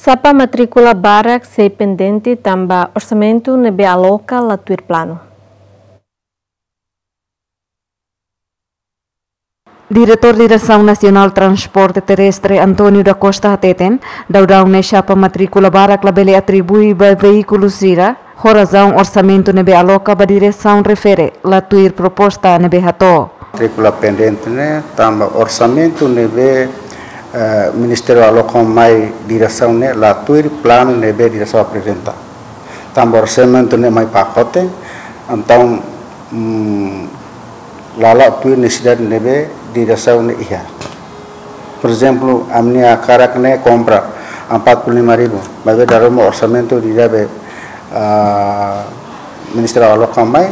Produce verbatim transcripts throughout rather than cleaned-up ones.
Xapa matríkula barak sei pendente tanba orsamentu ne'ebé aloka la tuir planu. Diretór Diresaun Nasionál Transporte Terrestre, António da Costa, hateten, daudaun ne'e xapa matríkula barak labele atribui ba veíkulu sira, ho razaun orsamentu ne'ebé aloka ba diresaun refere la tuir proposta ne'ebé hato'o. Matríkula pendente ne'e tanba orsamentu ne'ebé, eh, Ministériu aloka mai diresaun ne'e la tuir planu ne'ebé diresaun aprezenta. Tanba orsamentu ne'e mai pakote, entaun, mm, la la'o tuir nesesidade ne'ebé diresaun ne'e iha. Por ezemplu, ami-nia karak ne'e kompra empat puluh lima ribu, maibé dala ruma orsamentu ida be, ah, Ministériu aloka mai,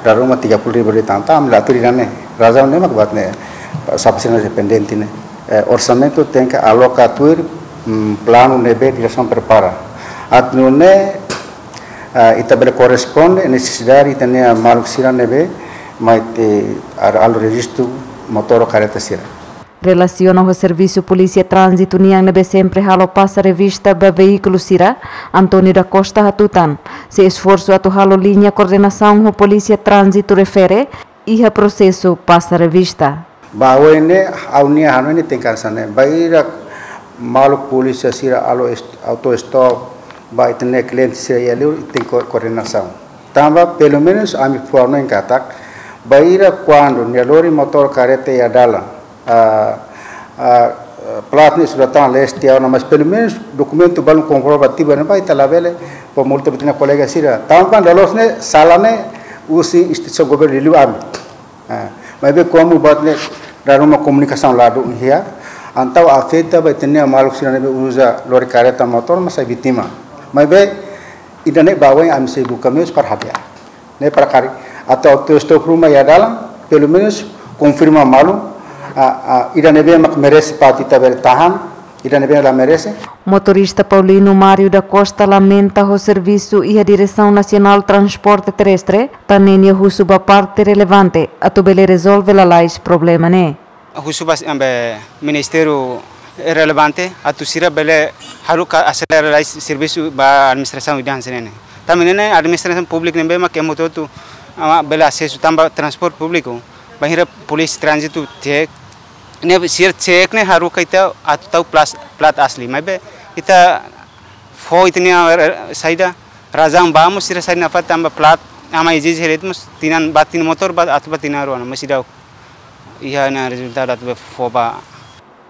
dala ruma tiga puluh ribu de'it, entaun ami la tuir ida-ne'e. Razaun ne'e mak buat ne'e, xapa sira ne'e pendente ne'e. Eh, orsamentu tenke aloka tuir, mm, planu ne'ebé diresaun prepara. Atu nune'e, ah, ita bele korresponde nesesidade ita-nia maluk sira ne'ebé mai, eh, halo rejistu motór kareta sira. Relasiona ho servisu Polísia Tránzitu nian ne'ebé sempre halo pasa revista ba veíkulu sira, António da Costa hatutan, sei esforsu atu halo liña koordenasaun ho Polísia Tránzitu refere iha prosesu pasa revista. Ba oin ne'e, ha'u-nia hanoin ne'e tenke hanesan ne'e. Bainhira maluk polísia sira halo est-, auto stop, ba ita-nia kliente sira iha liur, tenke ko-, koordenasaun. Tanba, pelumenus, ami fó hanoin katak, bainhira kuandu nia lori motór kareta iha dalan, ah, ah, plat ne'e sudah tan leste ona, mas pelumenus dokumentu balun komprovativu ne'ebá ita labele fó multa ba ita-nia kolega sira. Tanba dala ruma ne'e sala ne'e husi instituisaun governu liuliu ami. Ah, maibé komu buat ne'e dala ruma komunikasaun la dún iha, entaun afeta ba ita-nia maluk sira ne'ebé uza lori kareta motór mak sai vítima. Maibé ida-ne'e ba oin ami sei buka meius para hadi'a. Ne'e para karik atu auto stop ruma iha dalan, pelumenus konfirma malu, ah, ah, ida ne'ebé mak merese para ita bele tahan, ida ne'ebé la merese. Motorista Paulino Mário da Costa lamenta ho servisu iha Diresaun Nasionál Transporte Terrestre, tan ne'e nia husu ba parte relevante atu bele rezolve lalais problema ne'e. Husu ba, ambe, ministériu relevante atu sira bele haruka aselera lalais servisu ba administrasaun ida hanesan ne'e. Tanba ne'e administrasaun públika ne'ebé mak ema hotu-hotu, ah, bele asesu tanba transporte públiku. Bainhira polísia tránzitu cek, ne'e sira cek ne'e haruka ita atu tau plas-, plat asli. Maibé ita fó ita-nia, eh, saida, razaun ba mós sira sai nafatin tanba plat, ami ezije hela de'it mós tinan ba tinan motór ba atu ba tinan rua ona, mós seidauk iha ona rezultadu atu be fó ba.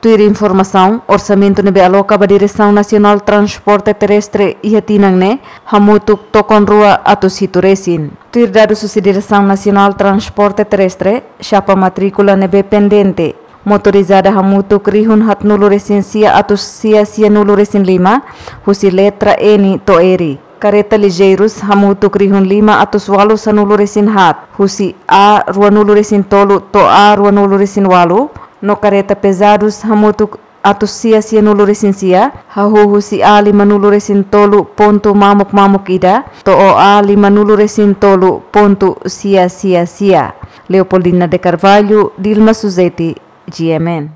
Tuir informasaun, orsamentu ne'ebé aloka ba Diresaun Nasionál Transporte Terrestre iha tinan ne'e hamutuk tokon rua atus hitu resin. Tuir dadus husi Diresaun Nasionál Transporte Terrestre, xapa matríkula ne'ebé pendente, motorizada hamutuk rihun haatnulu resin sia atus sia sianulu resin lima, husi letra N to'o R. Kareta lijeirus hamutuk rihun lima atus ualu sanulu resin haat, husi A ruanulu resin tolu to'o A ruanulu resin ualu, no kareta pezadus hamutuk atus sia sianulu resin sia, hahú husi A limanulu resin tolu pontu mamuk mamuk ida, to'o A limanulu resin tolu pontu sia sia sia. Leopoldina de Carvalho, Dilma Suzeti, G M N.